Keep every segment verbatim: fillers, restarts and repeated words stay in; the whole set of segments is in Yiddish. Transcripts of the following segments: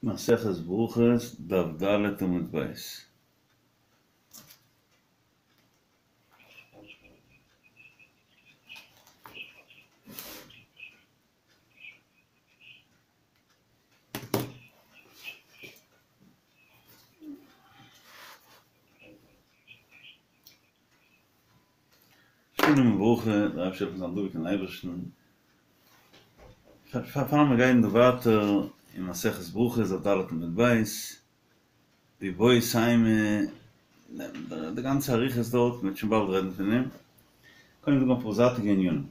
מסכת ברכות, דף ד' עמוד ב'. שלום וברכה, דער אייבערשטער זאל זיין דבוק אין אייבערשטן. פאר מיר גייען דא ווייטער אין מסכת ברכות דף ד' עמוד ב', ואיבעית אימא, די גאנצע אריכות דארט, מ'וועט שוין באלד רעדן פון דעם. קודם זאגן אפאר זייטיגע ענינים.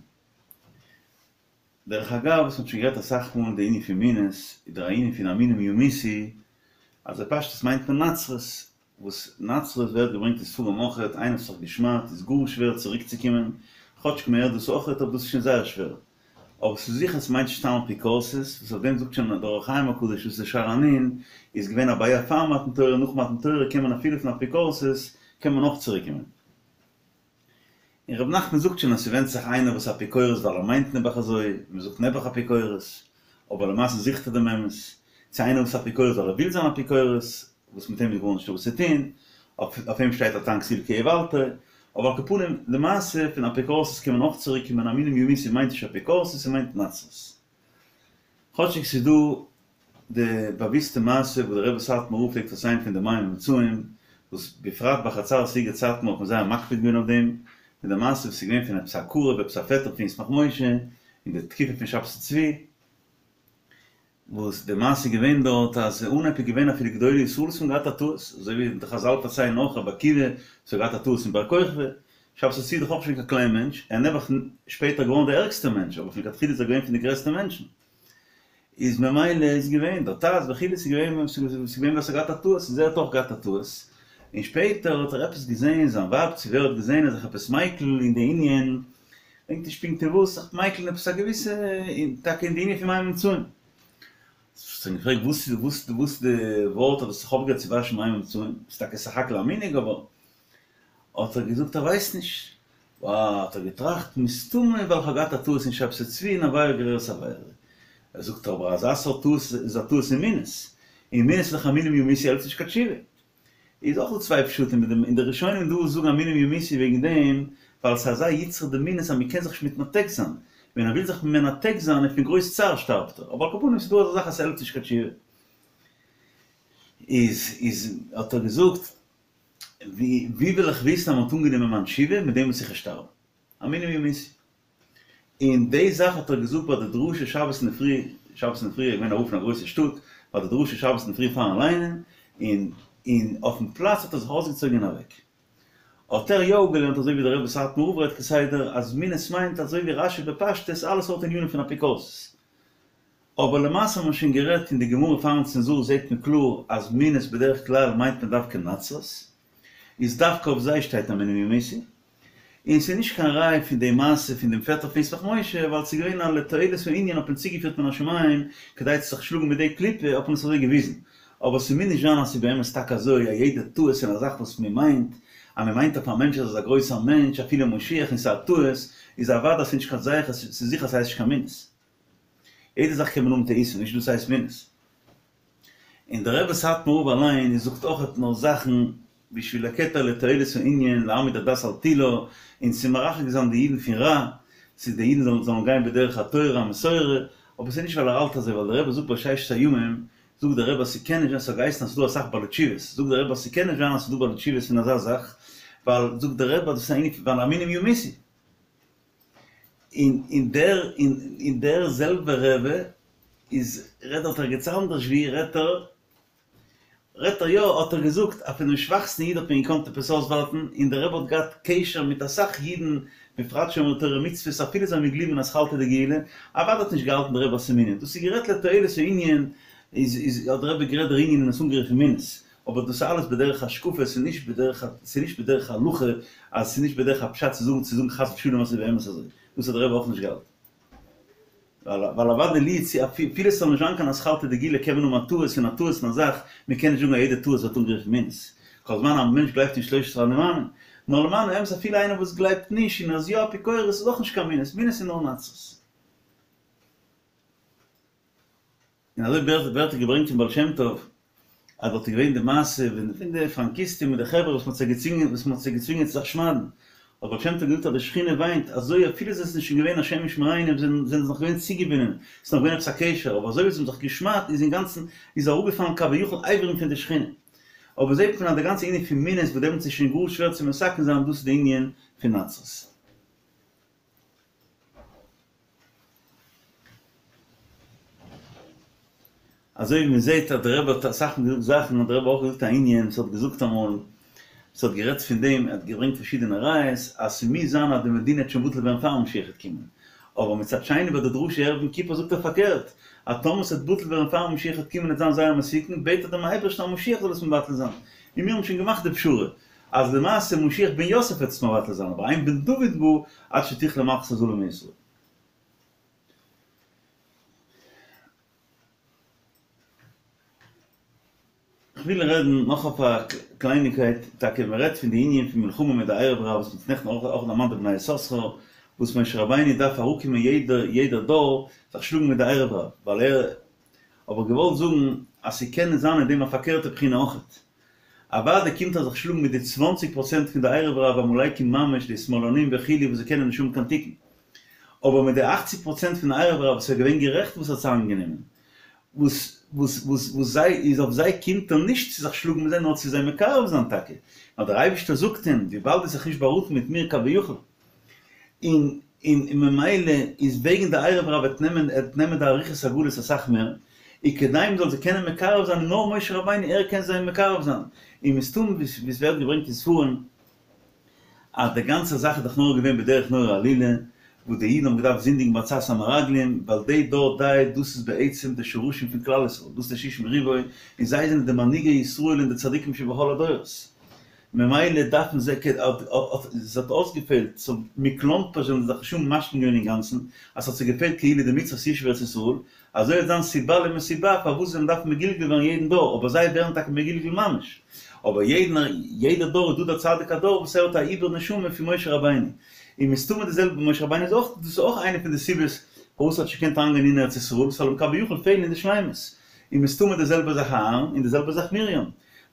דרך אגב, וואס מ'האט שוין גערעדט אסאך מאל די ענין פון מינות, איז דער ענין פון המינים ימותו, אז בפשטות מיינט מען נצרות, וואס נצרות ווערט געברענגט אין ספרים אויכעט, איינער וואס האט זיך געשמד'ט איז גאר שווער צוריקצוקומען, כאטשיג מ'הערט דאס אויכעט אבער דאס איז שוין זייער שווער. אבער ס'איז זיכער ס'מיינט נישט סתם אפיקורסות, וואס אויף דעם זאגט שוין דער אור החיים הקדוש וואס איז שער הנון איז געווען א בעיה פאר מתן תורה, נאך מתן תורה קען מען אפילו פון אפיקורסות קען מען אויך צוריקקומען. און ר' נחמן זאגט שוין אז ס'ווענדט זיך איינער וואס אפיקורס ווייל ער מיינט נעבעך אזוי, מ'זאגט נעבעך אפיקורס, אבער למעשה זוכט ער דעם אמת, צו איינער וואס אפיקורס ווייל ער וויל זיין אפיקורס, וואס מיט אים איז גארנישטא וואס צו טון, אויף אים שטייט אתה כסיל כי איוולתו, אבער על כל פנים, למעשה פון אפיקורסות קען מען אויך צוריק קומען המינים ימותו מיינט נישט אפיקורסות ס'מיינט נצרות. כאטשיג ס'איז דא די באוויסטע מעשה וואס דער רבי סאטמאר רב פלעגט פארציילן פון די מים המצויים, וואס בפרט בחצר סיגוט סאטמאר האט מען זייער מקפיד געווען אויף דעם, מיט די מעשה וואס איז געווען פון עפעס א קרוב עפעס א פעטער פון ישמח משה אין די תקופה פון שבתי צבי, וואס די מעשה איז געווען דארט אז אנהייב איז געווען אפילו גדולי ישראל וואס האבן געהאט א טעות, אזוי ווי די חזל פארציילן נאך רבי עקיבא וואס האט געהאט א טעות אין בר כוכבא, שבתי צבי איז דאך אויך נישט געווען קיין קליין מענטש, ער איז נעבעך שפעטער געווארן דער ערגסטער מענטש, אבער פון לכתחילה איז ער געווען פון די גרעסטע מענטשן. איז ממילא איז געווען דער ט"ז וכו' ס'איז געווען ס'איז געווען ווער ס'האט געהאט א טעות איז ער האט אויך געהאט א טעות, און שפעטער האט ער עפעס געזען זיין ווייב צו ווער האט געזען אז זיך עפעס מיקל אין די ענין, געדענק נישט פונקט אין וואס, זיך מיקל אין עפעס א געוויסע, טאקע אין די ענין פון מים המצויים. האט ער אים געפרעגט וואס איז וואס וואס די ווארט האט עס זיך אויפגעהערט צו וואשן מים המצויים, ס'איז טאקע סך הכל א מנהג אבער האט ער געזאגט ער ווייסט נישט. וואו האט ער געטראכט, מסתמא ווייל כ'האב געהאט א טעות אין שבתי צבי און עבירה גוררת עבירה. ער זאגט אבער אזא סארט טעות איז א טעות אין מינות, און מינות איז דאך המינים ימותו העלפט נישט קיין תשובה. איז אויך דא צוויי פשטים מיט דעם, און די ראשונים דא זאגן המינים ימותו וועגן דעם ווייל ס'איז אזא יצרא דמינות אז מ'קען זיך נישט מתנתק זיין, ווען ער וויל זיך מנתק זיין און פון גרויס צער שטארבט ער, אבער על כל פנים ס'איז דא אזא זאך אז ס'העלפט נישט קיין תשובה. איז איז האט ער געזאגט ווי ווי וועל איך וויסן אז מ'האט אנגענומען מיין תשובה מיט דעם וואס איך וועל שטארבן? המינים ימותו. און די זאך האט ער געזאגט ביי די דרשה שבת אינדערפרי, שבת אינדערפרי איז געווען א רב פון א גרויסע שטאט, ביי די דרשה שבת אינדערפרי פארן ליינען, און און אויפן פלאץ האט ער זיך אויסגעצויגן און אוועק. האט ער יא אפגעלערנט אזוי ווי דער רבי סאטמאר רב רעדט כסדר אז מינות מיינט אזוי ווי רשי בפשטות אלע סארט ענינים פון אפיקורסות. אבער למעשה האט מען שוין גערעדט אין די גמרא פארן צנזור זעהט מען קלאר אז מינות בדרך כלל מיינט מען דווקא נצרות, איז דווקא אויף זיי שטייט המינים ימותו, און ס'איז נישט קיין ראי' פון די מעשה פון דעם פעטער פון ישמח משה ווייל ס'איז געווען א לתועלת הענין האט מען צוגעפירט מן השמים כדי צו זיך שלאגן מיט די קליפה האט מען עס אזוי געוויזן, אבער ס'מוז נישט זיין אז ס'איז באמת טאקע אזוי א יעדע טעות אין א זאך וואס מ'מיינט אז מ'מיינט אויף א מענטש אז ער איז א גרויסער מענטש אפילו משיח און ס'איז א טעות איז אוודאי ס'איז נישט קיין זכר ס'איז זיכער ס'הייסט נישט קיין מינות. יעדע זאך קען מען האבן טעותים, נישט דאס הייסט מינות. און דער רבי סאטמאר רב אליין איז זאגט אויכעט נאר זאכן בשביל הקטע לתועלת הענין להעמיד הדת על תילה און צו מרחק זיין די אידן פון רע, צו די אידן זאלן זאלן גיין בדרך התורה המסורה, אבער ס'איז נישט ווייל ער האלט אזוי ווייל דער רבי זאגט ביי ששת הימים זאגט דער רבי אז ס'קען נישט זיין ס'האט געהייסן אז ס'איז דא אסאך בעלי תשובות זאגט דער רבי אז ס'קען נישט זיין אז ס'איז דא בעלי תשובות פון אזא זאך ווייל זאגט דער רבי אז דאס איז א ענין פון ווייל המינים ימותו. און און דער און דער זעלבער רבי איז רעדט דארט ערגעץ אנדערש ווי רעדט ער רעדט ער יא האט ער געזאגט אז פונעם שוואכסטן איד האט מען געקאנט עפעס אויסווארטן און דער רבי האט געהאט קשר מיט אסאך אידן בפרט שומרי תורה ומצוות אפילו זיי האבן געגליבן אין אתחלתא דגאולה אוודאי האט נישט געהאלטן דער רבי אז ס'איז מינות דאס איז גערעדט לתועלת הענין איז איז האט דער רבי גערעדט דער ענין און עס אנגערופן מינות אבער דאס איז אלעס בדרך השקפה, ס'איז נישט בדרך ס'איז נישט בדרך הלכה, אז ס'איז נישט בדרך הפשט צו זאגן צו זאגן חס ושלום אז ס'איז באמת אזוי, דאס האט דער רבי אויך נישט געהאלטן. ווייל ווייל אוודאי לי צו אפילו ס'זאל נישט זיין קיין אתחלתא דגאולה קען מען האבן א טעות און א טעות אין א זאך, מען קען נישט זאגן אז יעדע טעות ווערט אנגערופן מינות, כל זמן א מענטש גלייבט אין שלושת עשרה אני מאמין. נאר למען האמת אפילו איינער וואס גלייבט נישט און ער איז יא אפיקורס איז אויך נישט קיין מינות, מינות איז נאר נצרות. און אזוי ווערט געברענגט פון בעל שם טוב, אז דארט איז געווען די מעשה פון די פראנקיסטים מיט די חברה וואס מ'האט זיי געצווינגען וואס מ'האט זיי געצווינגען צו זיך שמד'ן, האט בעל שם טוב געזאגט אז די שכינה וויינט, אזוי אפילו זיי זענען שוין געווען השם ישמרינו זענען זיי נאך געווען צוגעבינדען, ס'איז נאך געווען עפעס א קשר, אבער אזוי ווי זיי האבן זיך געשמד'ט איז אינגאנצן איז אראפגעפאלן כביכול אברים פון די שכינה. אבער זעט מען אז די גאנצע ענין פון מינות וואס דעמאלטס איז שוין גאר שווער צו מתקן זיין דאס איז די ענין פון נצרות. אזוי ווי מען זעט אז דער רבי האט אסאך מאל געזאגט זאכן האט דער רבי אויך געזאגט א ענין וואס האט געזאגט אמאל וואס האט גערעדט פון דעם ער האט געברענגט פארשידענע ראיות אז ס'מוז זיין אז די מדינה וועט שוין בטל ווערן פאר משיח וועט קומען אבער מצד שני ביי די דרשה ערב יום כיפור זאגט ער פארקערט אז טאמער ס'וועט בטל ווערן פאר משיח וועט קומען וועט זיין זייער מסוכן בעט ער דעם אייבערשטן אז משיח זאל עס מבטל זיין און מיר האבן שוין געמאכט די פשרה אז למעשה משיח בן יוסף וועט עס מבטל זיין אבער אין בן דוד בא עד שתכלה מלכות הזלה מישראל. כ'וויל רעדן נאך אויף א קלייניקייט, טאקע מען רעדט פון די ענין פון מלחמה מיט די ערב רב וואס מ'האט נעכטן אויך דערמאנט די בני יששכר, וואס משה רבינו דארף אראפקומען יעדע יעדע דור זיך שלאגן מיט די ערב רב, ווייל ער האב איך געוואלט זאגן אז ס'קען זיין אין דעם א פארקערטע בחינה אויכעט. אוודאי קומט ער זיך שלאגן מיט די צוואנציג פראצענט פון די ערב רב עמלקים ממש די שמאלנים וכו' וואס זיי קענען נישט האבן קיין תיקון. אבער מיט די אכציג פראצענט פון ערב רב וואס איז געווען גערעכט וואס האט זיי איינגענומען, וואס וואס וואס וואס זיי איז אויף זיי קומט ער נישט צו זיך שלאגן מיט זיי נאר צו זיי מקרב זיין טאקע, נאר דער אייבערשטער זאגט אים וויבאלד האסט זיך נישט באראטן מיט מיר כביכול, און און און ממילא איז וועגן די ערב רב וועט נעמען עט נעמען די אריכות הגלות אסאך מער, און כדי מען זאל זיי קענען מקרב זיין נאר משה רבינו ער קען זיי מקרב זיין, און מסתמא ווי עס ווערט געברענגט אין ספרים אז די גאנצע זאך איז דאך נאר געווען בדרך נורא עלילה, וואס די אידן האבן געדארפט זינדיגן בעצת המרגלים, ווייל די דור די דאס איז בעצם די שורשים פון כלל ישראל, דאס איז די שישים ריבוא, און זיי זענען די מנהיגי ישראל און די צדיקים שבכל הדורות. ממילא דארפן זיי כ א ס'האט אויסגעפעלט סאו מכלומרשט זענען זיי זיך שוין משלים געווען אינגאנצן אז ס'האט זיי געפעלט כאילו די מצוות ישוב ארץ ישראל, אזוי וועט זיין סיבה למסיבה פארוואס זיי דארפן מגולגל ווערן יעדן דור, אבער זיי ווערן טאקע מגולגל ממש, אבער יעדן יעדע דור איז דא דער צדיק הדור וואס ער האט א עיבור נשמה פון משה רבינו, און מסתמא די זעלבע משה רבינו איז אויך דאס איז אויך איינע פון די סיבות פארוואס ער האט נישט געקענט אריינגיין אין ארץ ישראל, ס'זאל אים כביכול פעלן אין די שלימות, און מסתמא די זעלבע זאך אהרן און די זעלבע זאך מרים.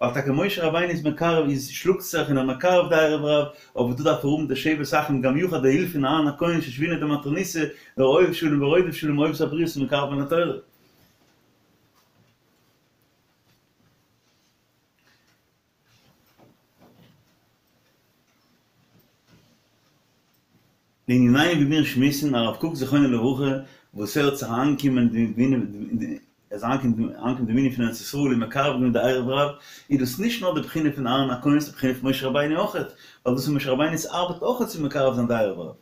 ווייל טאקע משה רבינו איז מקרב איז שלאגט זיך און ער מקרב די ערב רב, אבער דא דארף ער האבן די שבת אחים גם יחד די הילף פון אהרן הכהן שושבינא דמטרוניתא דער אוהב שלום ורודף שלום אוהב את הבריות ומקרבן לתורה. לענינינו ווי מיר שמועסן, הרב קוק זכרונו לברכה וואס ער האט זיך אריינגעקומען ער איז אריינגעקומען די בנין פון ארץ ישראל און מקרב געווען די ערב רב, איז דאס נישט נאר די בחינה פון אהרן הכהן ס'איז די בחינה פון משה רבינו אויכעט, ווייל דאס איז משה רבינו'ס ארבעט אויכעט צו מקרב זיין די ערב רב.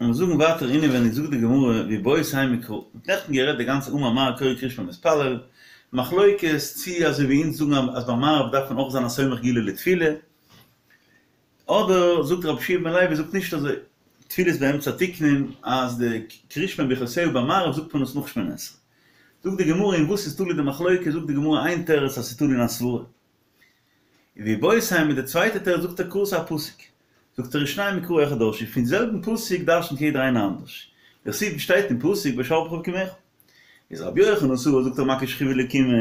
און זאגן ווייטער אינעווייניג זאגט די גמרא ואיבעית אימא קרא, מ'האט נעכטן גערעדט די גאנצע אמר מר קורא קריאת שמע ומתפלל, מחלוקת צי אזוי ווי אונז זאגן אז ביי מעריב דארף מען אויך זיין א סומך גאולה לתפילה, אדער זאגט רבי יהושע בן לוי זאגט נישט אזוי, תפילות באמצע תיקנום אז די קריאת שמע וברכותיה ביי מעריב זאגט מען עס נאך שמונה עשרה. זאגט די גמרא אין וואס איז תלוי די מחלוקת, זאגט די גמרא איין תירוץ אז ס'איז תלוי אין א סברה. ואיבעית אימא די צווייטע תירוץ זאגט ער קרא ס'איז א פסוק. זאגט ער ושנים מקרא אחד דרשו, פון זעלבן פסוק דרשנ'ט יעדער איינער אנדערש. דכתיב שטייט אין פסוק בשכבך ובקומך. איז רבי יוחנן סבר זאגט ער מקיש שכיבה לקימה,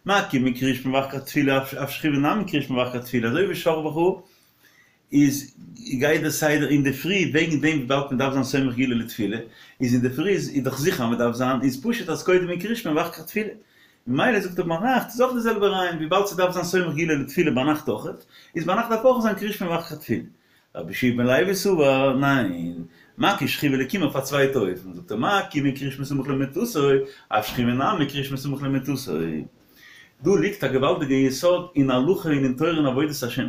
מה קימה קריאת שמע ואחר כך תפילה אף שכיבה נמי קריאת שמע ואחר כך תפילה אזוי ווי שכבך איז גייט די סדר אינדערפרי וועגן דעם וויבאלד מען דארף זיין סומך גאולה לתפילה איז אינדערפרי איז דאך זיכער אז מען דארף זיין איז פשוט אז קודם איז קריאת שמע ואחר כך תפילה ממילא זאגט ער ביינאכט איז אויך די זעלבע רעיון וויבאלד ס'דארף זיין סומך גאולה לתפילה ביינאכט אויכעט איז ביינאכט דארף אויך זיין קריאת שמע ואחר כך תפילה רבי יהושע בן לוי סבר, ניין, מקיש שכיבה לקימה אויף א צווייטע אופן, זאגט ער מה קימה קריאת שמע סמוך למיטתו, אף שכיבה נמי קריאת שמע סמוך למיטתו. דא ליגט א געוואלדיגע יסוד אין הלכה און אין תורה און עבודת השם.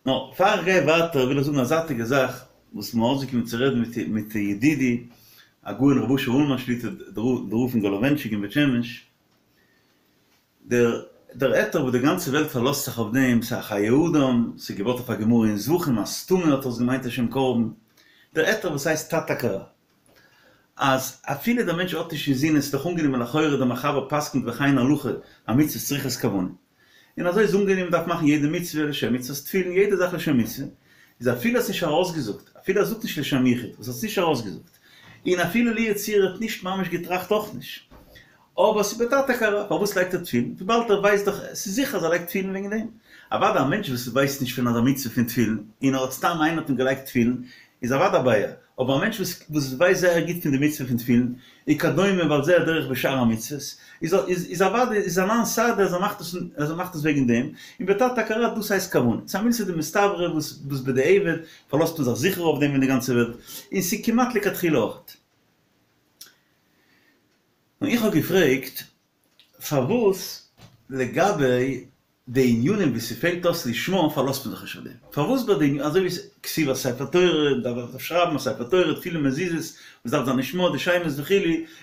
נאר פאר איך גיי ווייטער וויל איך זאגן א זייטיגע זאך וואס מ'האט אויסגעקומען צו רעדן מיט ידידי הגאון רבי אשר אולמאן שליט"א דער רב פון גאלאווענטשיק אין בית שמש, דער דער היתר וואס די גאנצע וועלט פארלאזט זיך אויף דעם, ס'איז א חיי אדם, ס'איז געבויט אויף א גמרא אין זבחים, אז סתמא האט ער עס געמיינט לשם קרבן, דער היתר וואס הייסט תת הכרה, אז אפילו דער מענטש האט נישט אינזין, עס איז דאך אנגענומען לכאורה דער מחבר פסק'נט וכן הלכה, המצוות צריכות כוונה. און אזוי איז אנגענומען מ'דארף מאכן יעדע מצוה לשם מצוות תפילין, יעדע זאך לשם מצוה, איז אפילו ער האט נישט ארויסגעזאגט, אפילו ער זאגט נישט לשם יחוד, וואס האט עס נישט ארויסגעזאגט, און אפילו לו יצויר ער האט נישט ממש געטראכט אויך נישט, אבער ס'איז בתת הכרה, פארוואס לייגט ער תפילין? וויבאלד ער ווייסט דאך, ס'איז זיכער אז ער לייגט תפילין וועגן דעם. אוודאי א מענטש וואס ווייסט נישט פון אזא מצוה פון תפילין, און ער האט סתם איינער האט אים געלייגט תפילין, איז אוודאי א בעיה, אבער א מענטש וואס וואס ווייסט זייער גוט פון די מצוה פון תפילין, וכדומה ועל זה הדרך בשאר המצוות, איז איז אוודאי איז אנן סהדי אז ער מאכט עס אז ער מאכט עס וועגן דעם, און בתת הכרה דאס הייסט כוונה. ס'איז א מילתא דמסתברא וואס וואס בדיעבד פארלאזט מען זיך זיכער אויף דעם אין די גאנצע וועלט, און ס'איז כמעט לכתחילה אויכעט. און איך האב געפרעגט פארוואס לגבי די ענינים וואו ס'פעלט אויס לשמה פארלאזט מען זיך נישט אויף דעם? פארוואס ביי די אזוי ווי כתיבת ספר תורה, דארף מען שרייבן א ספר תורה, תפילין מזוזות, וואס דארף זיין לשמה, די שמות וכו',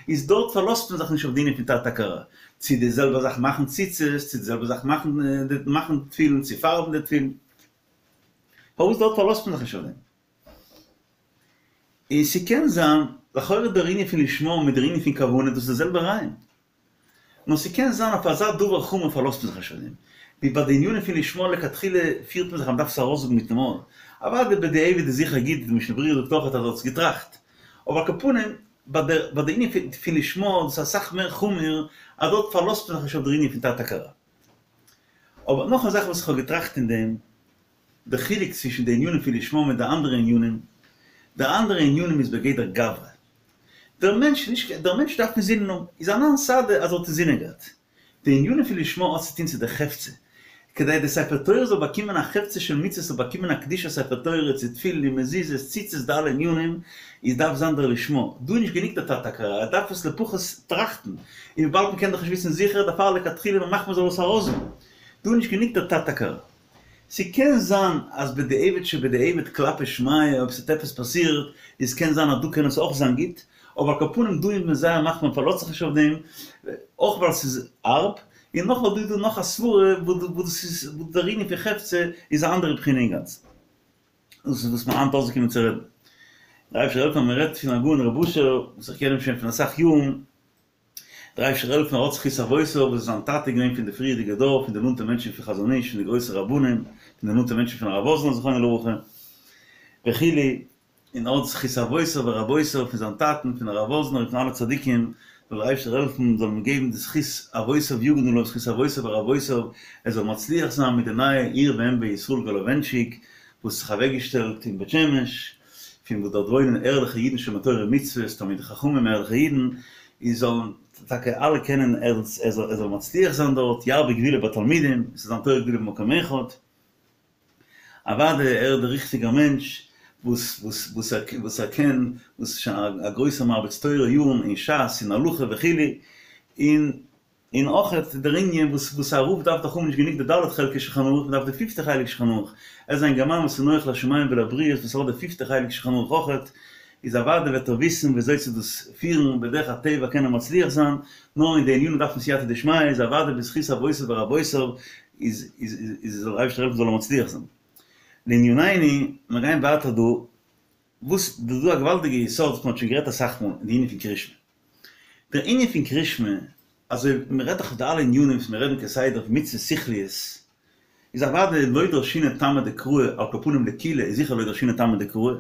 איז דארט פארלאזט מען זיך נישט אויף די ענין פון תת הכרה, צו די זעלבע זאך מאכן ציצית, צו די זעלבע זאך מאכן מאכן תפילין, צו פארבן די תפילין, פארוואס דארט פארלאזט מען זיך נישט אויף דעם? און ס'קען זיין, לכאורה דער ענין פון לשמה מיט דער ענין פון כוונה דאס איז די זעלבע רעיון. נאר ס'קען זיין אויף אזא דבר חמור פארלאזט מען זיך נישט אויף דעם. ווי ביי די ענינים פון לשמה לכתחילה פירט מען זיך אז מ'דארף עס ארויסזאגן מיטן מויל. אוודאי בדיעבד איז זיכער גוט, די משנה ברורה זאגט אויך אז ער האט עס געטראכט. אבער על כל פנים, ביי די ביי די ענין פון לשמה דאס איז אסאך מער חמור אז דארט פארלאזט מען זיך נישט אויף דער ענין פון תת הכרה. אבער נאך א זאך וואס איך האב געטראכט אין דעם, די חילוק צווישן די ענינים פון לשמה מיט די אנדערע ענינים, די אנדערע ענינים איז בגדר גברא. דער מענטש נישט דער מענטש דארף אינזינען האבן, איז אנן סהדי אז ער האט אינזינען געהאט. די ענינים פון לשמה האט צו טון צו די חפצא. כדי די ספר תורה זאל באקומען א חפצא של מצוה זאל באקומען א קדושת ספר תורה צו תפילין און מזוזות ציצית די אלע ענינים איז דארף זיין דער לשמה. דא איז נישט גענוג דער תת הכרה ער דארף עס לפחות טראכטן. און וויבאלד מ'קען דאך נישט וויסן זיכער דערפאר לכתחילה מ'מאכט מ'זאל עס ארויסזאגן. דא איז נישט גענוג דער תת הכרה. ס'קען זיין אז בדיעבד שבדיעבד כלפי שמיא אויב ס'האט עפעס פאסירט איז קען זיין אז דא קען עס אויך זיין גוט, אבער על כל פנים דא איז מען זייער מחמיר מ'פארלאזט זיך נישט אויף דעם, אויך ווייל ס'איז הארב, און נאך ווייל דא איז דא נאך א סברה וואס דאס איז וואס דער ענין פון חפצא איז א אנדערע בחינה אינגאנצן. דאס איז וואס מ'האט היינט אויסגעקומען צו רעדן. דער אייבערשטער זאל העלפן אז מ'רעדט פון הגאון רבי אשר וואס איך קען אים שוין פון אסאך יארן, דער אייבערשטער זאל העלפן ער האט זכות אבותיו וואס איז זיין טאטע געווען פון די פריערדיגע דור פון די נאנטע מענטשן פון חזון איש פון די גרויסע רבנים פון די נאנטע מענטשן פון הרב וואזנער זכרונו לברכה וכו' און האט זכות אבותיו ורבותיו פון זיין טאטן פון הרב וואזנער און פון אלע צדיקים זאל דער אייבערשטער העלפן זאל אים געבן די זכות אבותיו יגנו עליו זכות אבותיו ורבותיו ער זאל מצליח זיין מיט די נייע עיר ואם בישראל גאלאווענטשיק וואס האט זיך אוועקגעשטעלט אין בית שמש פון וואס דארט וואוינען ערליכע אידן שומרי תורה ומצוות, תלמידי חכמים ערליכע אידן, און זאלן טאקע אלע קענען ער ער זאל מצליח זיין דארט, ירבה גבולו בתלמידים, עס זאל זיין תורה גדולה במקום אחד, אוודאי ער איז דער ריכטיגער מענטש וואס וואס וואס ער וואס ער קען, וואס איז שוין א גרויסער מרביץ תורה יארן אין ש"ס אין הלכה וכו', און און אויך דער ענין וואס וואס א רב דארף דאך האבן נישט גענוג די ד' חלקי שולחן ערוך, מ'דארף די פיפטע חלק שולחן ערוך, ער איז א אינגערמאן וואס איז נוח לשמים ולבריות וואס האט די פיפטע חלק שולחן ערוך אויכעט, איז אוודאי וועט ער וויסן ווי אזוי צו דאס פירן, בדרך הטבע קען ער מצליח זיין, נאר אין די ענינים דארף מען סייעתא דשמיא, איז אוודאי בזכות אבותיו ורבותיו איז איז איז זאל דער אייבערשטער העלפן זאל ער מצליח זיין. לענינינו, מיר גייען ווייטער דא, וואס דא איז דא א געוואלדיגע יסוד וואס מען האט שוין גערעדט אסאך מאל, די ענין פון קרישמע. דער ענין פון קרישמע, אזוי מען רעדט דאך אויף די אלע ענינים וואס מיר רעדן כסדר אויף מצוות שכליות, איז אוודאי לא דרשינן טעמא דקרא, על כל פנים לקולא איז זיכער לא דרשינן טעמא דקרא,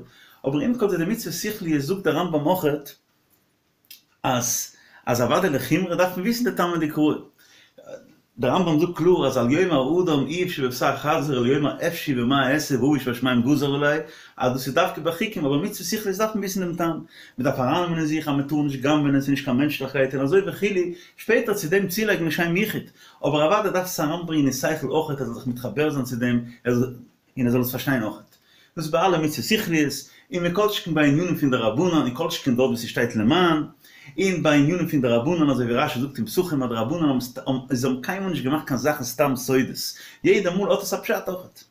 אבער עם כל זה די מצוות שכליות זאגט דער רמב"ם אויכעט אז אז אוודאי לחומרא דארף מען וויסן די טעמא דקרא. דער רמב"ם זאגט קלאר אז אל יאמר האדם איוב שבבשר חזיר אלא יאמר אפשי במה אעשה ואבי שבשמים גזר עלי, אז דאס איז דווקא ביי חוקים אבער מצוות שכליות דארף מען וויסן דעם טעם, מען דארף ארייננעמען אין זיך אז מען טאר נישט גנב'ענען ס'איז נישט קיין מענטשליכקייט און אזוי וכו', שפעטער צו דעם צולייגן לשם יחוד, אבער אוודאי דארף עס אריינברענגען אין שכל אויכעט ער זאל זיך מתחבר זיין צו דעם, ער זאל. און ער זאל עס פארשטיין אויכעט. דאס איז ביי אלע מצוות שכליות, און מכל שכן ביי ענינים פון דרבנן, און כל שכן דארט וואו ס'שטייט למען, און ביי ענינים פון דרבנן אזוי ווי רש"י זאגט אין פסחים אז די רבנן האבן זיי האבן קיינמאל נישט געמאכט קיין זאכן סתם סודות, יעדע מאל האט עס א פשט אויכעט.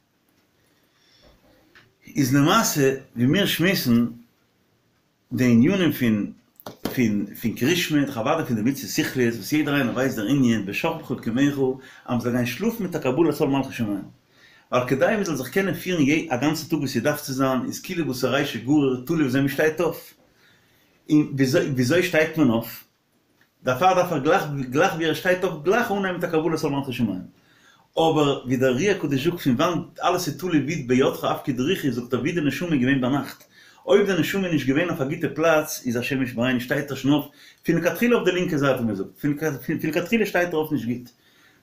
איז למעשה ווי מיר שמועסן די ענינים פון פון פון קריאת שמע, דאך אוודאי פון די מצוות שכליות וואס יעדער איינער ווייסט דער ענין בשכבך ובקומך אז מ'זאל גיין שלאפן מיט א קבלת עול מלכות שמים. ווייל כדי מ'זאל זיך קענען פירן א גאנצע טאג ווי ס'דארף צו זיין איז כולו בתר רישא גריר תלוי וויאזוי מ'שטייט אויף. און וויאזוי שטייט מען אויף? דערפאר דארף ער גלייך גלייך ווי ער שטייט אויף גלייך אנהייבן מיט א קבלת עול מלכות שמים. אבער ווי דער אר"י הקדוש זאגט פון וואנט אלעס איז תלוי ווי בידך אפקיד רוחי זאגט ער ווי די נשמה איז געווען ביינאכט. אויב די נשמה איז נישט געווען אויף א גוטע פלאץ איז השם ישמרינו שטייט ער שוין אויף פון לכתחילה אויף די לינקע זייט ווי מען זאגט פון לכתחילה שטייט ער אויף נישט גוט.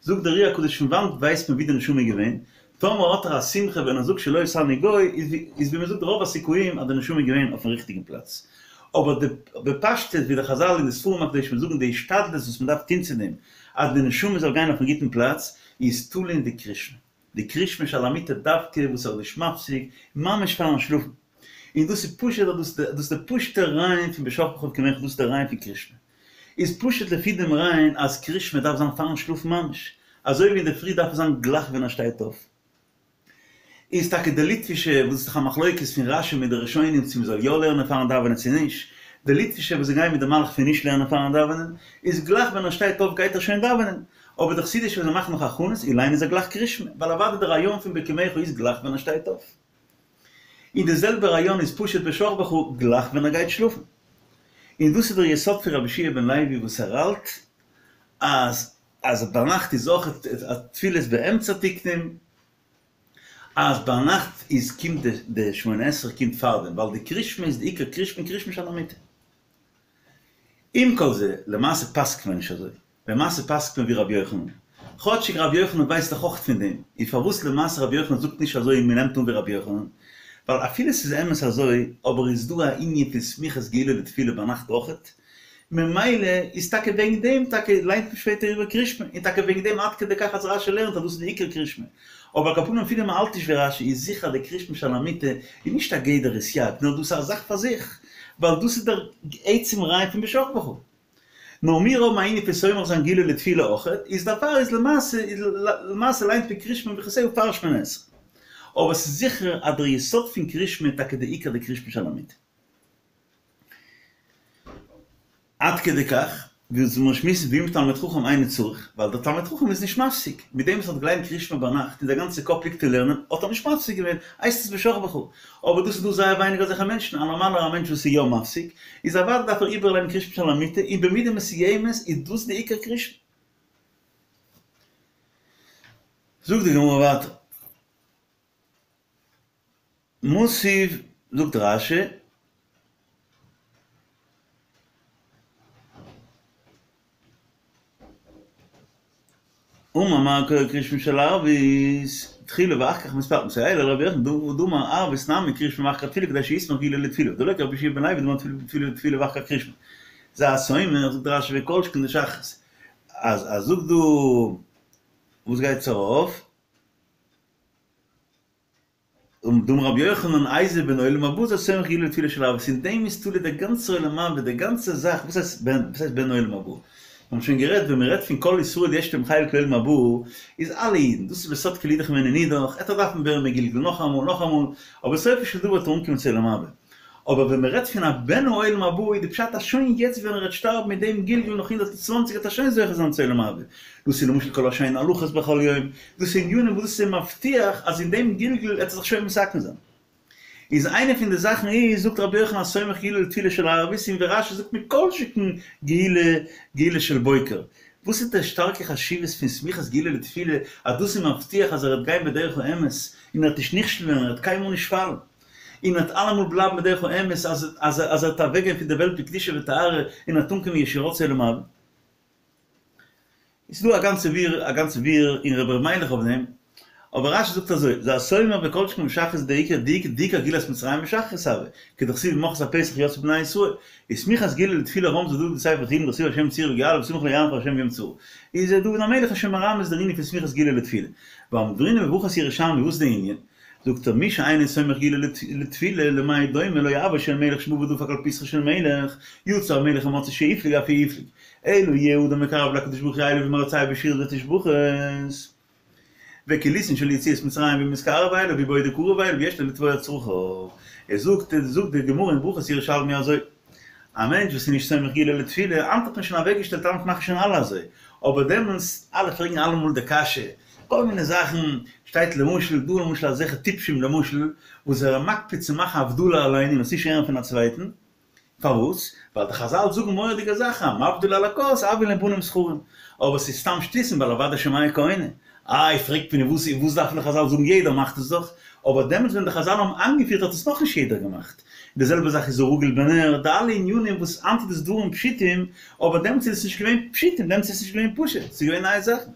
זאגט דער אר"י הקדוש פון וואנט ווייסט מען ווי די נשמה איז געווען? טאמער האט ער א שמחה ווען ער זאגט שלא עשני גוי איז ווי מען זאגט רוב הסיכויים אז די נשמה איז געווען אויפן ריכטיגן פלאץ. אבער די בפשטות ווי די חזל און די ספרים הקדושים זאגן די השתדלות וואס מען דארף טון צו דעם אז די נשמה זאל גיין אויפן גוטן פלאץ איז תלוי אין די קריאת שמע. די קריאת שמע שעל המיטה דווקא וואס ער איז נישט מפסיק ממש פארן שלאפן. און דאס איז פשוט אז דאס איז די פשוט'ע רעיון פון בשכבך ובקומך דאס איז די רעיון פון קריאת שמע. איז פשוט לפי דעם רעיון אז קריאת שמע דארף זיין פארן שלאפן ממש, אזוי ווי אינדערפרי דארף עס זיין גלייך ווען ער שטייט אויף. איז טאקע די ליטווישע, וואס איז דאך א מחלוקת פון רש"י מיט די ראשונים צו מ'זאל יא לערנען פארן דאווענען צו נישט, די ליטווישע וואס זיי גייען מיט די מהלך פון נישט לערנען פארן דאווענען, איז גלייך ווען ער שטייט אויף גייט ער שוין דאווענען, אבער די חסידישע וואס זיי מאכן נאך הכנות, און ליינען זיי גלייך קריאת שמע, ווייל אוודאי די רעיון פון בקומך איז גלייך ווען ער שטייט אויף. און די זעלבע רעיון איז פשוט בשכבך גלייך ווען ער גייט שלאפן. און דאס איז דער יסוד פון רבי יהושע בן לוי וואס ער האלט אז אז ביינאכט איז אויך תפילות באמצע תקנום, אז ביינאכט איז קומט די שמונה עשרה קומט פארדעם, ווייל די קריאת שמע איז די עיקר קריאת שמע קריאת שמע שעל המיטה. עם כל זה, למעשה פסק'ט מען נישט אזוי. למעשה פסק'ט מען ווי רבי יוחנן. כאטשיג רבי יוחנן ווייסט דאך אויך פון דעם. און פארוואס למעשה רבי יוחנן זאגט נישט אזוי און מען נעמט אן ווי רבי יוחנן? ווייל אפילו ס'איז אמת אזוי, אבער איז דא א ענין פון סמיכות גאולה לתפילה ביינאכט אויכעט, ממילא איז טאקע וועגן דעם טאקע ליינט מען שפעטער איבער קריאת שמע, און טאקע וועגן דעם עד כדי כך אז רש"י לערנט אז דאס איז די עיקר קריאת שמע. אבער על כל פנים אפילו מען האלט נישט ווי רש"י איז זיכער אז די קריאת שמע שעל המיטה איז נישט א גדר סייג, נאר דאס איז א זאך פאר זיך, ווייל דאס איז דער עצם רעיון פון בשכבך. נאר מיר האבן א ענין פון סומך זיין גאולה לתפילה אויכעט, איז דערפאר איז למעשה איז למעשה ליינט מען קריאת שמע וברכותיה פאר שמונה עשרה. אבער ס'איז זיכער אז דער יסוד פון קריאת שמע איז טאקע די עיקר די קריאת שמע שעל המיטה. עד כדי כך, ווי אונז מיר שמועסן ואם תלמיד חכם אינו צריך, ווייל דער תלמיד חכם איז נישט מפסיק, מיט דעם וואס ער האט געליינט קריאת שמע ביינאכט און דער גאנצער קאפ ליגט אין לערנען, האט ער נישט מפסיק געווען, הייסט עס בשכבך. אבער דאס איז דא זייער ווייניג אזעלכע מענטשן, א נארמאלער א מענטש וואס איז יא מפסיק, איז אוודאי דארף ער איבערליינען קריאת שמע שעל המיטה, און במידה מסוימת איז דאס די עיקר קריאת שמע. זאגט די גמרא ווייטער. מתיב, זאגט רש"י, אמר מר קורא קריאת שמע של ערבית, תחילה ואחר כך מתפלל, מסייע ליה לרבי יוחנן דאמר ערבית נמי קריאת שמע ואחר כך תפילה כדי שיסמוך גאולה לתפילה, דלא כרבי יהושע בן לוי דאמר תפילה תפילה ואחר כך קריאת שמע. זה הסומך, זאגט רש"י וכל שכן דשחרית. אז אז זאגט דא וואס גייט ארויף? דאמר רבי יוחנן איזהו בן עולם הבא זה הסומך גאולה לתפילה של ערבית, אין דעם איז תלוי דער גאנצער עולם הבא, די גאנצע זאך, וואס הייסט בן, וואס הייסט בן עולם הבא? מיר האבן שוין גערעדט, ווען מען רעדט פון כל ישראל יש להם חלק לעולם הבא, איז אלע אידן, דאס איז בסוד כל אידך ממנו נידח, עט ער דארפן ווערן מגולגל נאכאמאל, נאכאמאל, אבער סופו של דבר וועט ער אנקומען צו עולם הבא. אבער ווען מען רעדט פון א בן העולם הבא איז די פשט אז שוין יעצט ווען ער וועט שטארבן מיט דעם גלגול נאך הונדערט און צוואנציג וועט ער שוין זוכה זיין צו עולם הבא. דאס איז למשל כל השונה הלכות בכל יום, דאס איז ענינים וואס דאס איז מבטיח אז אין דעם גלגול וועט ער זיך שוין מתקן זיין. איז איינע פון די זאכן איז, זאגט רבי יוחנן הסומך גאולה לתפילה של ערבית און ווי רש"י זאגט מכל שכן גאולה גאולה של בוקר. וואס איז די שטארקע חשיבות פון סמיכת גאולה לתפילה אז דאס איז מבטיח אז ער וועט גיין בדרך האמת און ער וועט נישט נכשל ווערן ער וועט קיינמאל נישט פאלן. און וועט אלעמאל בלייבן בדרך האמת אז אז אז ער וועט אוועקגיין פון די וועלט בקדושה וטהרה און וועט אנקומען ישירות צו עולם הבא. איז דא א גאנצע ביאור א גאנצע ביאור אין רבי ר' מיילעך אויף דעם, אבער רש"י זאגט אזוי, זה הסומך וכל שכן בשחרית דעיקר דעיקר גאולת מצרים בשחרית הוה, כדכתיב ממחרת הפסח יצאו בני ישראל, איז סמיכת גאולה לתפילה רמזא דוד בספר תהילים דכתיב השם צורי וגואלי וסמוך לא יענך השם ביום צרה. איז דוד המלך איז שוין מרמז דער ענין פון סמיכת גאולה לתפילה. ואמרינן בברכות ירושלמי וואס איז די ענין? זאגט ער מי שאינו סומך גאולה לתפילה למה דומה לו אבו של מלך שבא ודפק על פתחו של מלך יצא המלך ומצאו שהפליג אף הוא הפליג אלא יהא אדם מקרב להקדוש ברוך הוא אליו ומרצהו בשירות ותשבחות וכוליסין של יציאת מצרים ומתקרב אליו ובו דקרוב אליו ויש לו לתבוע צרכיו ער זאגט זאגט די גמרא אין ברכות ירושלמי אזוי א מענטש וואס איז נישט סומך גאולה לתפילה, היינט האט מען שוין אוועקגעשטעלט היינט מאכן שוין אלע אזוי, אבער דעמאלטס, אלע פרעגן אלעמאל די קשיא, כל מיני זאכן, שטייט למשל, דא למשל אזעלכע טיפשים למשל, וואס זענען מקפיד צו מאכן הבדלה אליין און עס נישט הערן פון א צווייטן, פארוואס? ווייל די חזל זאגן מורא'דיגע זאכן, המבדיל על הכוס, הויין ליה בנים זכרים. אבער ס'איז סתם שטותים ווייל אוודאי שומע כעונה. איי, פרעגט מען וואס וואס דארפן די חזל זאגן יעדער מאכט עס דאך. אבער דעמאלטס ווען די חזל האבן איינגעפירט האט עס נאכנישט יעדער געמאכט. די זעלבע זאך איז הרגיל בנר, די אלע ענינים וואס היינט איז דאס דברים פשוטים, אבער דעמאלטס איז עס נישט געווען פשוטים, דעמאלטס איז עס נישט געווען פשוט, ס'איז געווען נייע זאכן.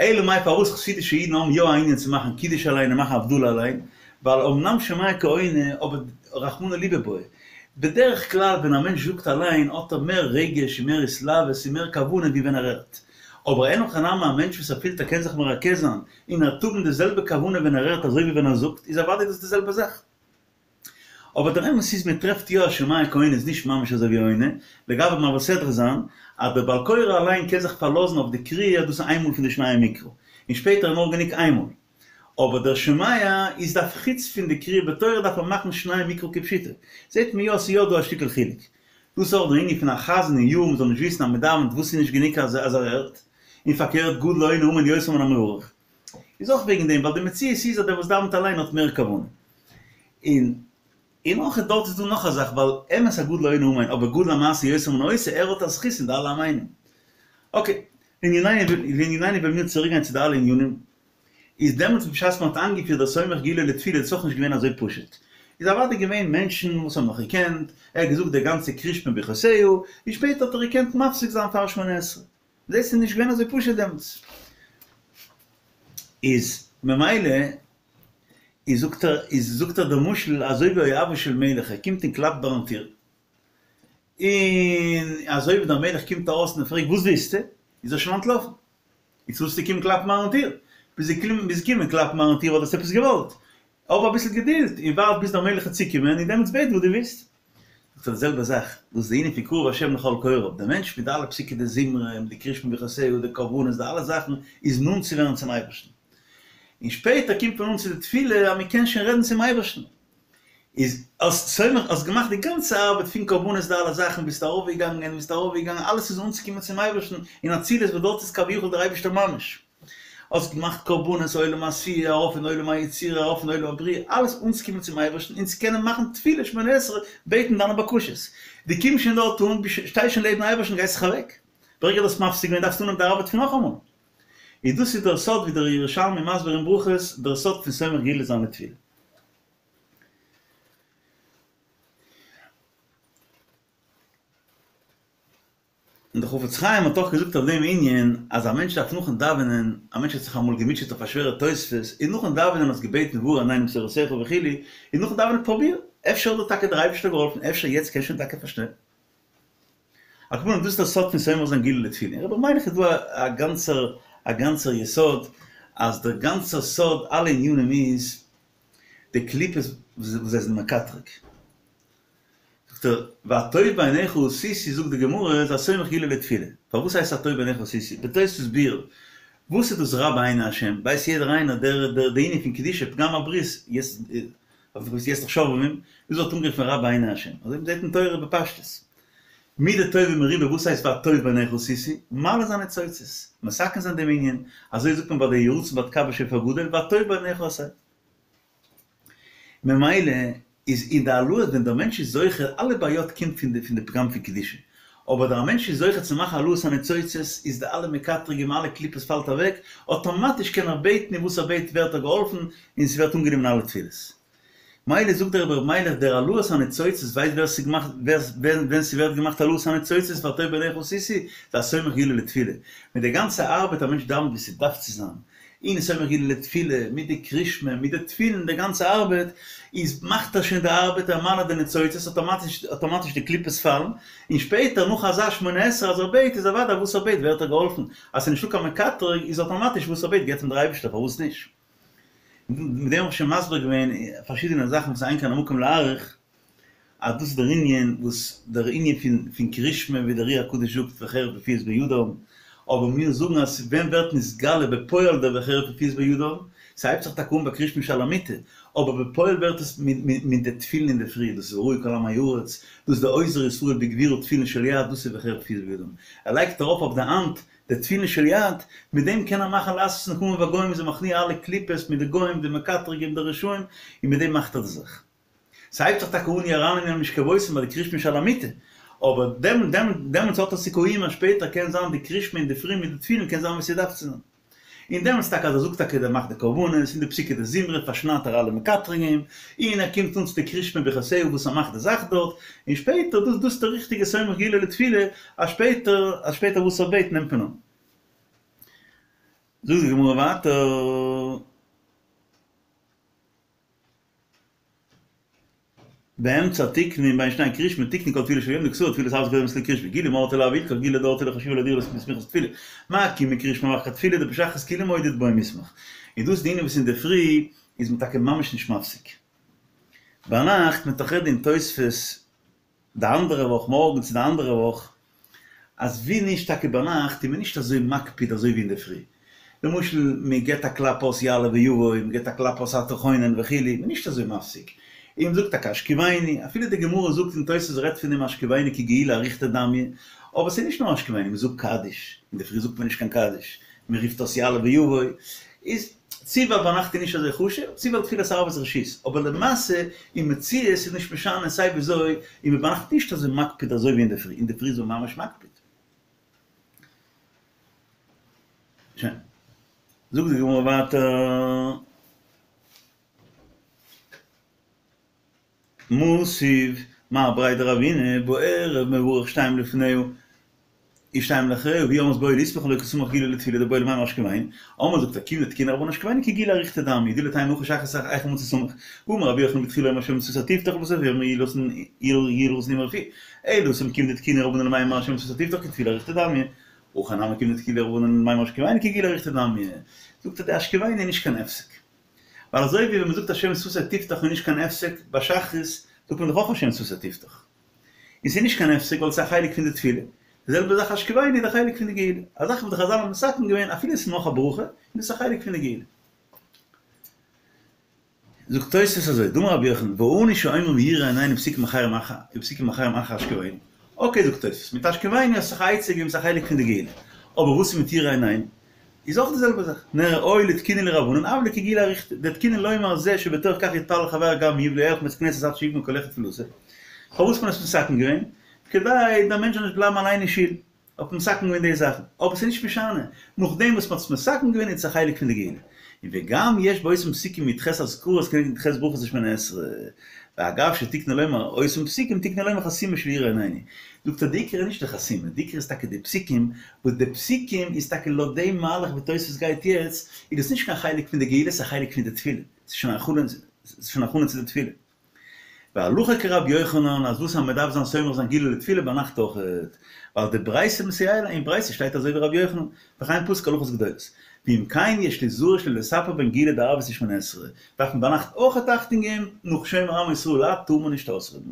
אלא מאי פארוואס חסידישע אידן האבן יא א ענין צו מאכן קידוש אליין און מאכן הבדלה אליין, ווייל אמנם שומע כעונה אבער רחמנא ליבא בעי. בדרך כלל ווען א מענטש זאגט אליין האט ער מער רגש און מער התלהבות און מער כוונה ווי ווען ער הערט. אבער אין הכי נמי א מענטש וואס ער פילט ער קען זיך מרכז זיין און ער וועט האבן די זעלבע כוונה ווען ער הערט אזוי ווי ווען ער זאגט איז אוודאי דאס די זעלבע זאך. אבער דער אמת איז מען טרעפט יא אז שומע כעונה איז נישט ממש אזוי ווי עונה, לגבי מעביר סדרה זיין, אז דער בעל קורא אליין קען זיך פארלאזן אויף די קריאה דאס איז איינמאל פון די שניי מקרא, און שפעטער איז נאר גענוג איינמאל. אבער דער שומע איז דארף חוץ פון די קריאה בתורה דארף ער מאכן שניי מקרא כפשוטו. זעט מען יא ס'איז יא דא א שטיקל חילוק. דאס איז אויך דער ענין פון א חזן אין יאר מ'זאל נישט וויסן אז מ'דאווענט וואס איז נישט גענוג אז ער הערט, און פארקערט גדול העונה אמן יותר מן המברך. איז אויך וועגן דעם ווייל די מציאות איז אז דער וואס דאווענט אליין האט מער כוונה. און און אויך דארט איז דא נאך א זאך ווייל אמת א גדול העונה אמן אבער גדול המעשה יותר מן העושה ער האט א זכות אין די אלע אמנים. אקעי, לענינינו וועלן מיר צוריק גיין צו די אלע ענינים, איז דעמאלטס בשעת מען האט איינגעפירט דער סומך גאולה לתפילה איז עס אויך נישט געווען אזוי פשוט, איז אוודאי געווען מענטשן וואס האבן נאך געקענט, ער האט געזאגט די גאנצע קריאת שמע ברכותיה, און שפעטער האט ער געקענט מפסיק זיין פאר שמונה עשרה. דאס איז נישט געווען אזוי פשוט דעמאלטס. איז ממילא איז זאגט ער איז זאגט ער דער משל אזוי ווי אוהבו של מלך ער קומט און קלאפט ביים טיר און אזוי ווי דער מלך קומט ארויס און ער פרעגט וואס ווילסטו איז ער שוין אנטלאפן איצט ווילסטו קומען קלאפן מיין טיר ביסט געקומען ביסט געקומען קלאפן מיין טיר ווייל דו האסט עפעס געוואלט האב אביסל געדולד און ווארט ביז דער מלך וועט צוקומען און דעמאלטס בעט וואס דו ווילסט. זאגט ער די זעלבע זאך, דאס איז די ענין פון קרוב השם לכל קוראיו, דער מענטש מיט די אלע פסוקי דזמרה, מיט די קריאת שמע ברכותיה, די קרבנות, די אלע זאכן, איז נאנט צו ווערן צום אייבערשטן. און שפעטער קומט מען אן צו די תפילה אז מען קען שוין רעדן צום אייבערשטן. איז האסט סומך, האסט געמאכט די גאנצע ארבעט פון קרבנות די אלע זאכן, ביסט ארויפגעגאנגען, ביסט ארויפגעגאנגען, אלעס איז אנצוקומען צום אייבערשטן, אין אצילות וואס דארט איז כביכול דער אייבערשטער ממש. האסט געמאכט קרבנות עולם העשיה, ארויף אין עולם היצירה, ארויף אין עולם הבריאה, אלעס אנצוקומען צום אייבערשטן און צו קענען מאכן תפילה שמונה עשרה, בעטן דיינע בקשות. דו קומסט שוין דארט אן, שטייסט שוין לעבן אייבערשטן, גייסט זיך אוועק. ברגע דו האסט מפסיק געווען דארפסטו אנהייבן די ארבעט פון נאכאמאל. און דאס איז דער סוד ווי דער ירושלמי מסביר אין ברכות, דער סוד פון סומך גאולה זיין לתפילה. און דער חפץ חיים האט אויך געזאגט אויף דעם ענין אז א מענטש דארף נאכן דאווענען, א מענטש האט זיך אמאל געמוטשעט אויף א שווערע תוספות, און נאכן דאווענען האסט געבעטן והאר עינינו בתורתך וכו', און נאכן דאווענען פרוביר, אפשר האט דיר טאקע דער אייבערשטער געהאלפן, אפשר יעצט קענסט שוין טאקע פארשטיין. על כל פנים דאס איז דער סוד פון סומך זיין גאולה לתפילה. אין רבי מיילעך איז דא א גאנצער א גאנצער יסוד אז דער גאנצער סוד אלע ענינים איז די קליפות וואס זיי זענען מקטרג. זאגט ער, והטוב בעיניך עשיתי זאגט די גמרא איז הסומך גאולה לתפילה, פארוואס הייסט הטוב בעיניך עשיתי? בתוספות ביאור, וואס איז דאס רע בעיני השם? ווייסט יעדער איינער דער דער די ענין פון קדושה פגם הברית, יעצט יעצט דאך שובבים, דאס ווערט אנגערופן רע בעיני השם, אזוי מ'זעט אין תורה בפשטות. מידה טובה מרובה וואס הייסט והטוב בעיניך עשיתי? מעלה זיין ניצוצות, מתקן זיין דעם ענין, אזוי זאגט מען ביי די יהי רצון ביי תקע בשופר גדול והטוב בעיניך עשה. ממילא איז אין די העלאות ווען דער מענטש איז זוכה, אלע בעיות קומט פון די פון די פגם פון קדושה, אבער דער מענטש איז זוכה צו מאכן העלאת הניצוצות איז די אלע מקטרגים אלע קליפות פאלט אוועק, אטאמאטיש קען ער בעטן און וואס ער בעט ווערט ער געהאלפן און ס'ווערט אנגענומען אלע תפילות. מילא זאגט דער רבי ר' מיילעך דער העלאת הניצוצות ווייסט ווער ס'איז געמאכט ווער ווען ס'ווערט געמאכט העלאת הניצוצות והטוב בעיניך עשיתי זה הסומך גאולה לתפילה מיט די גאנצע ארבעט א מענטש דאווענט ווי ס'דארף צו זיין און סומך גאולה לתפילה מיט די קרישמע מיט די תפילין די גאנצע ארבעט איז מאכט ער שוין די ארבעט ער מעלה די ניצוצות אטאמאטיש אטאמאטיש די קליפות פאלן און שפעטער נאך אזא שמונה עשרה אז ער בעט איז אוודאי וואס ער בעט ווערט ער געהאלפן אז ס'נישטא קיין מקטרג איז אטאמאטיש וואס ער בעט געבט אים דער אייבערשטער פארוואס נישט? מיט דעם האב איך שוין מסביר געווען פארשידענע זאכן וואס אין כאן המקום להאריך, אז דאס איז דער ענין וואס דער ענין פון פון קרישמע ווי דער אר"י הקדוש זאגט וחרב פיפיות בידם, אבער מיר זאגן אז ווען ווערט נתגלה בפועל דער וחרב פיפיות בידם, ס'הייבט זיך טאקע אן ביי קריאת שמע שעל המיטה, אבער בפועל ווערט עס מיט די תפילין אינדערפרי, דאס איז וראו כל עמי הארץ, דאס איז די אוזר ישראל בגבורה תפילין של יד, דאס איז וחרב פיפיות בידם. ער לייגט ארויף אויף די האנט די תפילין של יד, מיט דעם קען ער מאכן לעשות נקמה בגוים, איז ער מכניע אלע קליפות מיט די גוים, די מקטרגים, די רשעים, און מיט דעם מאכט ער די זאך. ס'הייבט זיך טאקע אן יראנו מן המשכבותם ביי די קריאת שמע שעל המיטה, אבער דעמאלטס האט ער סיכויים אז שפעטער קען זיין די קריאת שמע אינדערפרי מיט די תפילין קען זיין ווי ס'דארף צו זיין. און דעמאלטס טאקע אז ער זאגט טאקע ער מאכט די קרבנות און די פסוקי דזמרה פארשניידט ער אלע מקטרגים, און ער קומט אן צו די קריאת שמע ברכותיה וואס ער מאכט די זאך דארט, און שפעטער דאס דאס איז די ריכטיגע סומך גאולה לתפילה, אז שפעטער אז שפעטער וואס ער בעט נעמט מען אן. זאגט די גמרא ווייטער. באמצע תיקנו בין שני קריאת שמע תיקנו כל תפילה של יום דכתב תפילת ערבית קודמת לקריאת שמע גאולה מרתא לאו הילכך גאולה דאורתא לא חשיבא לאהדורי לסמיכת תפילה מאי קימי קריאת שמע ואחר כך תפילה דבשחרית כולהו מודו דבעי מיסמך און דאס איז די ענין וואס אינדערפרי איז מען טאקע ממש נישט מפסיק ביינאכט מ'וועט דאך רעדן אין תוספות די אנדערע וואך מארגן צו די אנדערע וואך, אז ווי נישט טאקע ביינאכט איז מען נישט אזוי מקפיד אזוי ווי אינדערפרי, למשל מען געבט א קלאפ אויס יעלה ויבוא, מען געבט א קלאפ אויס אתה חונן וכו', מען איז נישט אזוי מפסיק, און מען זאגט טאקע השכיבנו, אפילו די גמרא זאגט און תוס' רעדט פון דעם השכיבנו כגאולה אריכתא דמיא, אבער ס'איז נישט נאר השכיבנו, מען זאגט קדיש, אינדערפרי זאגט מען נישט קיין קדיש, מען רופט אויס יעלה ויבוא, איז צו ווייל ביינאכט איז נישט אזוי חשוב, צו ווייל תפילת ערבית רשות, אבער למעשה אין מציאות איז נישט משנה סיי וויאזוי איז מען ביינאכט נישט אזוי מקפיד אזוי ווי אינדערפרי, אינדערפרי איז מען ממש מקפיד. שוין. זאגט די גמרא ווייטער. מתיב מר בריה דרבינא בערב מברך שתיים לפניה ושתיים לאחריה והיא אומרת בעי לסמוך ולא קא סמיך גאולה לתפילה דבעי למימר השכיבנו אמרי זאגט ער כיון דתקינו רבנן השכיבנו כגאולה אריכתא דמיא דאילו תימא הכא שחרית היכי מצי סמיך והאמר רבי יוחנן בתחילה אומר השם שפתי תפתח ובסוף אומר יהי לרצון אמרי פי אלא התם כיון דתקינו רבנן למימר השם שפתי תפתח כתפילה אריכתא דמיא הכא נמי כיון דתקינו רבנן למימר השכיבנו כגאולה אריכתא דמיא זאגט ער די השכיבנו איז נישט קיין הפסק ווייל אזוי ווי ווען מ'זאגט השם שפתי תפתח איז נישט קיין הפסק, ביי שחרית זאגט מען דאך אויך השם שפתי תפתח. און ס'איז נישט קיין הפסק ווייל ס'איז א חלק פון די תפילה. די זעלבע זאך השכיבנו איז א חלק פון די גאולה. א זאך וואס די חזל האבן מתקן געווען אפילו עס איז נאך א ברכה, איז דאס א חלק פון די גאולה. זאגט תוספות אזוי, דאמר רבי יוחנן, ואנו שאומרים יאירו עינינו פסוקים אחרים אחר פסוקים אחרים אחר השכיבנו. אקעי זאגט תוספות, מיט השכיבנו האסט זיך א עצה געגעבן ס'איז א חלק פון די גאולה. אבער וואס איז מיט יאירו עינינו? איז אויך די זעלבע זאך, נראה הואיל ותקינו להו רבנן הוה ליה כגאולה אריכתא, דתקינו לומר זה שבתוך כך יתפלל חברו גם הוא ולא ילך מבית הכנסת עד שיגמור כל אחד תפילתו. פארוואס האט מען עס מתקן געווען? כדי דער מענטש זאל נישט בלייבן אליין אין שול, האט מען מתקן געווען די זאכן, אבער ס'איז נישט משנה, נאכדעם וואס מ'האט עס מתקן געווען איז עס א חלק פון די גאולה. און וגם יש באותן פסוקים י"ח אזכרות כנגד י"ח ברכות דשמונה עשרה. ואגב שתקנו לומר אותן פסוקים תקנו לומר חתימה של יאירו עינינו. זאגט ער די עיקר איז נישט די חתימה, די עיקר איז טאקע די פסוקים, וואס די פסוקים איז טאקע לויט דעם מהלך ווי תוספות גייט יעצט, איז דאס נישט קיין חלק פון די גאולה ס'איז א חלק פון די תפילה, ס'איז שוין א הכנה, ס'איז שוין הכנה צו די תפילה. והלכה כרבי יוחנן אז וואס אז מ'דארף זיין סומך זיין גאולה לתפילה ביינאכט אויכעט, ווייל די ברייתא מסייע ליה, אין ברייתא שטייט אזוי ווי רבי יוחנן, וכן פסק הלכות גדולות. ואם כן יש ליזהר שלא לספר בין גאולה דערבית לשמונה עשרה, דארף מען ביינאכט אויכעט אכטונג געבן, נאך שומר עמו ישראל את טאר מען נישט אויסרעדן.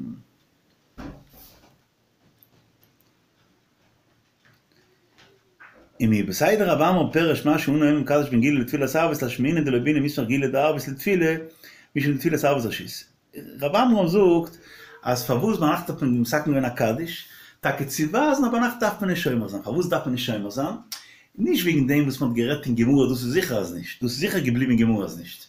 ומיהו בסדר רב עמרם פירש מה שאנו אומרים קדיש בין גאולה לתפילת ערבית לאשמועינן דלא בעינן מיסמך גאולה דערבית לתפילה משום דתפילת ערבית רשות. רב עמרם זאגט אז פארוואס ביינאכט האט מען מתקן געווען א קדיש, טאקע צו ווייזן אז ביינאכט דארף מען נישט שומר זיין, פארוואס דארף מען נישט שומר זיין? נישט וועגן דעם וואס מען האט גערעדט אין גמרא דאס איז זיכער אז נישט, דאס איז זיכער געבליבן אין גמרא אז נישט,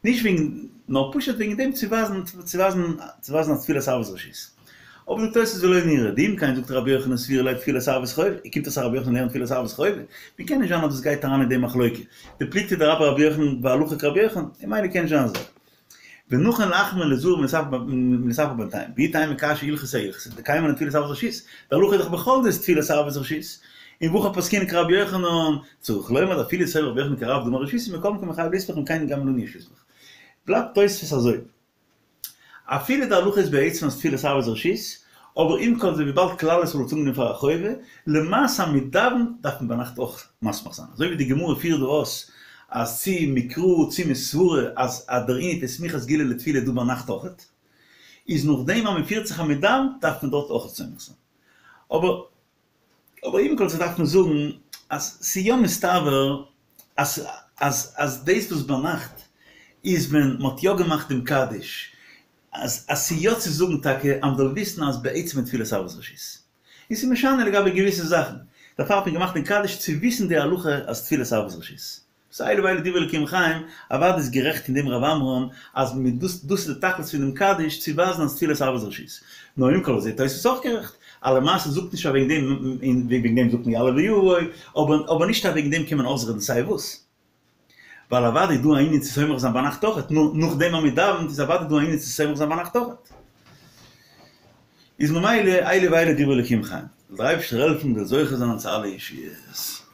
נישט וועגן, נאר פשוט וועגן דעם צו ווייזן, צו ווייזן, צו ווייזן אז תפילת ערבית רשות. אבער זאגט תוס' ולא נראה, דאם כן זאגט רבי יוחנן סבירא ליה תפילת ערבית חובה, קומט אויס אז רבי יוחנן לערנט תפילת ערבית חובה, ווי קען נישט זיין אז דאס גייט אריין אין די מחלוקה, דפלוגתא דרבה ורבי יוחנן והלכה כרבי יוחנן, ממילא קען נישט זיין אזוי. ונכון להחמיר וליזהר מלספר בינתיים, ואי תימא קשיא הלכתא אהלכתא, דקיימא לן תפילת ערבית רשות, די הלכה איז דאך בכל זאת תפילת ערבית רשות, און והכי פסקינן כרבי יוחנן, צריך לומר דאפילו סובר רבי יוחנן כרב דאמר רשות מכל מקום חייב לסמוך אם כן גם לנו יש לסמוך. בלייבט תוספות אזוי. אפילו די הלכה איז בעצם אז תפילת ערבית רשות, אבער עם כל זה וויבאלד כלל ישראל האט אנגענומען פאר א חובה, למעשה אז מען דאווענט דארף מען ביינאכט אויך מסמיך זיין, אזוי ווי די גמרא פירט דא אויס אז צו מקרא צו מסברא אז אז דער ענין פון סמיכת גאולה לתפילה איז דא ביינאכט אויכעט, איז נאכדעם אז מען פירט זיך אז מען דאווענט דארף מען דארט אויכעט סומך זיין. אבער אבער עם כל זה דארף מען זאגן אז ס'איז יא מסתבר אז אז אז דאס וואס ביינאכט איז ווען מ'האט יא געמאכט דעם קדיש, אז אז ס'איז יא צו זאגן טאקע אז מ'זאל וויסן אז בעצם איז תפילת ערבית רשות. און ס'איז משנה לגבי געוויסע זאכן. דערפאר האט מען געמאכט דעם קדיש צו וויסן די הלכה אז תפילת ערבית רשות. סאו אלו ואלו דברי אלקים חיים, אוודאי איז גערעכט אין דעם רב עמרם אז מיט דאס דאס איז די תכלית פון דעם קדיש צו ווייזן אז תפילת ערבית רשות. נאר עם כל זה תוספות אויך גערעכט, אז למעשה זאגט נישט אז וועגן דעם און וועגן דעם זאגט מען יעלה ויבוא, אבער אבער נישט אז וועגן דעם קען מען אויסרעדן סיי וואס. ווייל אוודאי איז דא א ענין צו סומך זיין ביינאכט אויכעט, נאכדעם אז מען דאווענט איז אוודאי דא א ענין צו סומך זיין ביינאכט אויכעט. איז ממילא אלו ואלו דברי אלקים חיים. זאל דער אייבערשטער העלפן מ'זאל זוכה זיין צו אלע ישועות.